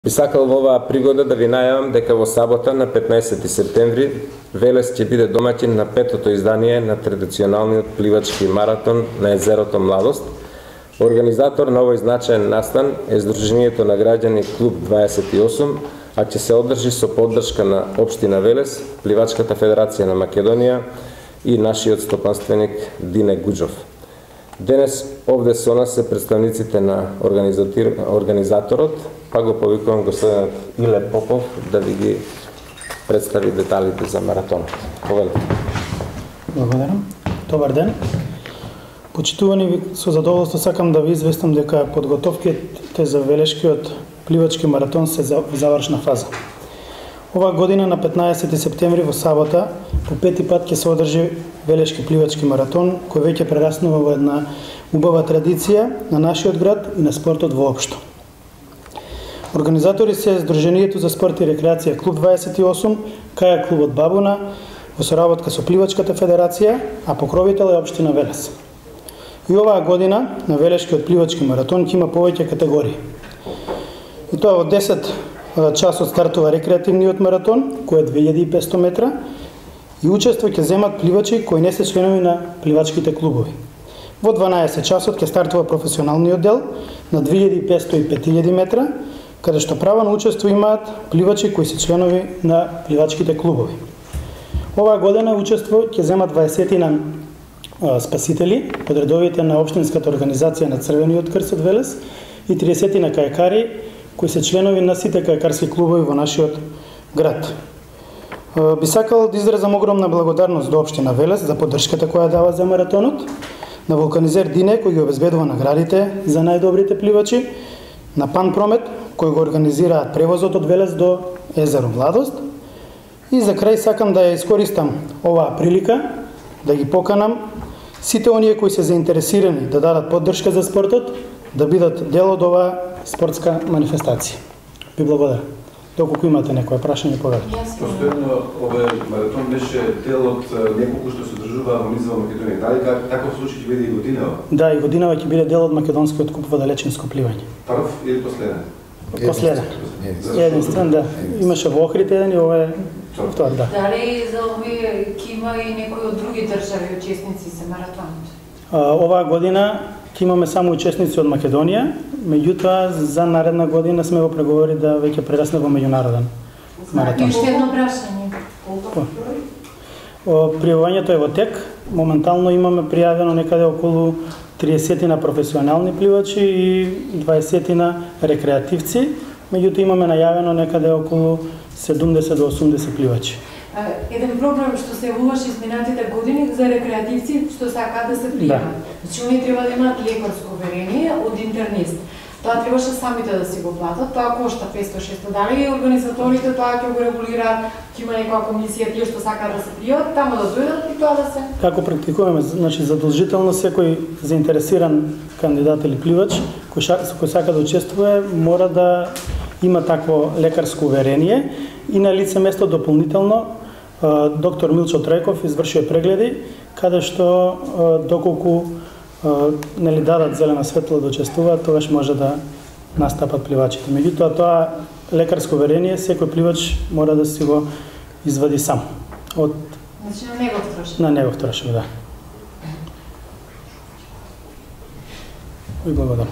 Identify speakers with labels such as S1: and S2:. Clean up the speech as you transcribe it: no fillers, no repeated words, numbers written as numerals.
S1: Би сакал во оваа пригода да ви најавам дека во сабота на 15 септември Велес ќе биде домаќин на петото издание на традиционалниот пливачки маратон на езерото Младост. Организатор на овој значаен настан е Сдруженијето на граѓани Клуб 28, а ќе се одржи со поддршка на Општина Велес, Пливачката федерација на Македонија и нашиот стопанственик Дине Гуџов. Денес овде со нас се представниците на организаторот, па го повикувам господинот Иле Попов да ви ги представи деталите за маратонот. Повелете.
S2: Благодарам. Добар ден. Почитувани, со задоволство сакам да ви известам дека подготовките за Велешкиот пливачки маратон се во завршна фаза. Оваа година на 15 септември во сабота по пети пат ќе се одржи Велешки пливачки маратон, кој веќе прераснува во една убава традиција на нашиот град и на спортот воопшто. Организатори се Сдруженијето за спорт и рекреација Клуб 28, Кајак клубот Бабуна, во соработка со Пливачката федерација, а покровител е Општина Велес. И оваа година на Велешкиот пливачки маратон ќе има повеќе категории. И тоа во 10 часот стартува рекреативниот маратон, кој е 2500 метра, и учество ќе земат пливачи кои не се членови на пливачките клубови. Во 12 часот ќе стартува професионалниот дел на 2500 и 5000 метра, каде што право на учество имаат пливачи кои се членови на пливачките клубови. Оваа година учество ќе земат 20 спасители од редовите на Општинската организација на Црвениот крст од Велес и 30 кајакари кои се членови на сите кајакарски клубови во нашиот град. Би сакал да изразам огромна благодарност до Општина Велес за поддршката која дава за маратонот, на вулканизер Дине кој ги обезбедува наградите за најдобрите пливачи, на Пан Промет кој го организираат превозот од Велес до езеро Младост. И за крај сакам да ја искористам оваа прилика да ги поканам сите оние кои се заинтересирани да дадат поддршка за спортот, да бидат дел од оваа спортска манифестација. Ви благодарам. Доколку имате некој прашање, повелете.
S3: Постојано овој маратон беше дел од неколку што се одржува во низ во Македонија. Дали таков случај ќе биде и годинава?
S2: Да, и годинава ќе биде дел од македонскиот куп во далечинско пливање.
S3: Прв или последен?
S2: Последен. Единствен, да. Имаше во Охрид еден и ова е втор, да.
S4: Дали за овие ќе има и некои од други држави учесници за маратонот?
S2: Оваа година ќе имаме само учесници од Македонија, меѓутоа за наредна година сме во преговори да веќе прерасне во меѓународен маратон.
S4: Уште едно прашање.
S2: Пријавувањето е во тек. Моментално имаме пријавено некаде околу 30 на професионални пливачи и 20 на рекреативци, меѓутоа имаме најавено некаде околу 70 до 80 пливачи.
S4: Еден проблем што се јавуваше изминатите години за рекреативци што сакаат да се пријават. Значи, они треба да имаат лекарско уверение од интернист. Тоа требаше самите да си го платат, тоа кошта 500-600. Дали организаторите тоа ќе го регулираат, ќе има некоја комисија тие што сакаат да се пријават, таму да дојдат и тоа да се...
S2: Како практикуваме, значи задолжително секој заинтересиран кандидат или пливач кој сака да учествува мора да има такво лекарско уверение и на лице место дополнително доктор Милчо Трајков извршува прегледи каде што доколку нели дадат зелена светло да учествуваат, тогаш може да настапат пливачите. Меѓутоа тоа лекарско уверение секој пливач мора да си го извади сам.
S4: Значи на негов трошок.
S2: На негов трошок, да. И благодарам.